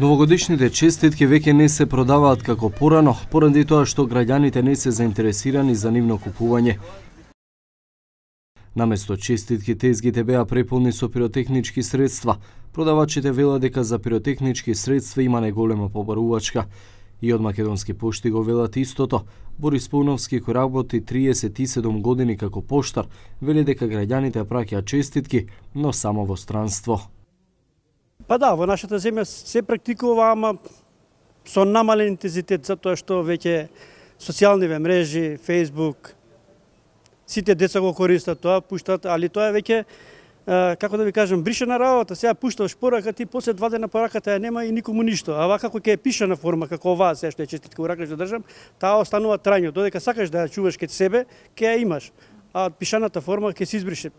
Новогодишните честитки веќе не се продаваат како порано, поради тоа што граѓаните не се заинтересирани за нивно купување. Наместо честитки, тезгите беа преполни со пиротехнички средства. Продавачите велат дека за пиротехнички средства има неголема побарувачка. И од Македонски пошти го велат истото. Борис Пауновски, кој работи 37 години како поштар, вели дека граѓаните праќаат честитки, но само во странство. Па да, во нашата земја се практикува, ама со намален интензитет, затоа што веќе социјалниве мрежи, Facebook, сите деца го користат тоа, пуштат, али тоа е веќе, како да ви кажам, бришена работа. Сега пушташ порака, ти после 2 дена пораката ја нема и никому ништо. А вака како ќе е пишана форма, како оваа, сега што е честитка уракаш да држам, таа останува трајно. Додека сакаш да ја чуваш кај себе, ќе ја имаш. А пишаната форма ќе се избрише.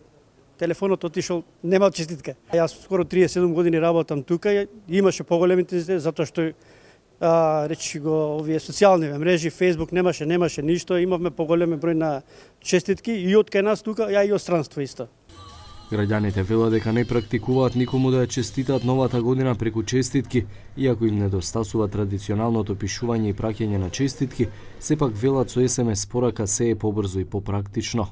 Телефонот отишол, нема честитка. Јас скоро 37 години работам тука и имаше поголем интензитет, затоа што речи го овие социјални мрежи, Facebook немаше ништо, имавме поголем број на честитки и од кај нас тука, ја и од странство исто. Граѓаните велат дека не практикуваат никому да ја честитаат новата година преку честитки, иако им недостасува традиционалното пишување и праќање на честитки, сепак велат со SMS порака се е побрзо и попрактично.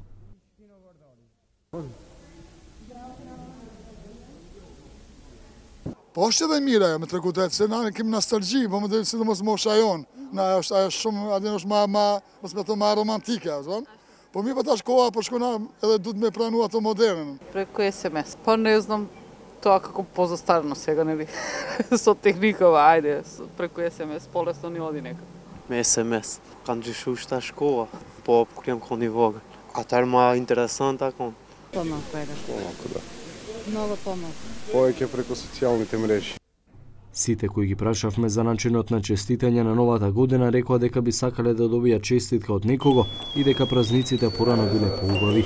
Poște de mire, am trecut de ținare, kim nostalgie, vom de să mos moșaion, na shumë adenos ma aspecto ma romantike, zvan. Po mi patash koha për shkona edhe duhet me pranu ato modernën. Преку SMS. Па не знам тоа како позастарно сега, нели? Со техникава, ајде, преку SMS полесно ни оди нека. Me SMS, kanë gjyshu shta shkoa, po kur jam koni vogël. Atëherë ma interesant akon. Помалку, ајде. Помалку, да. Много помалку. Повеќе преку социјалните мрежи. Сите кои ги прашавме за начинот на честитање на новата година рекоа дека би сакале да добијат честитка од некого и дека празниците порано биле поубави.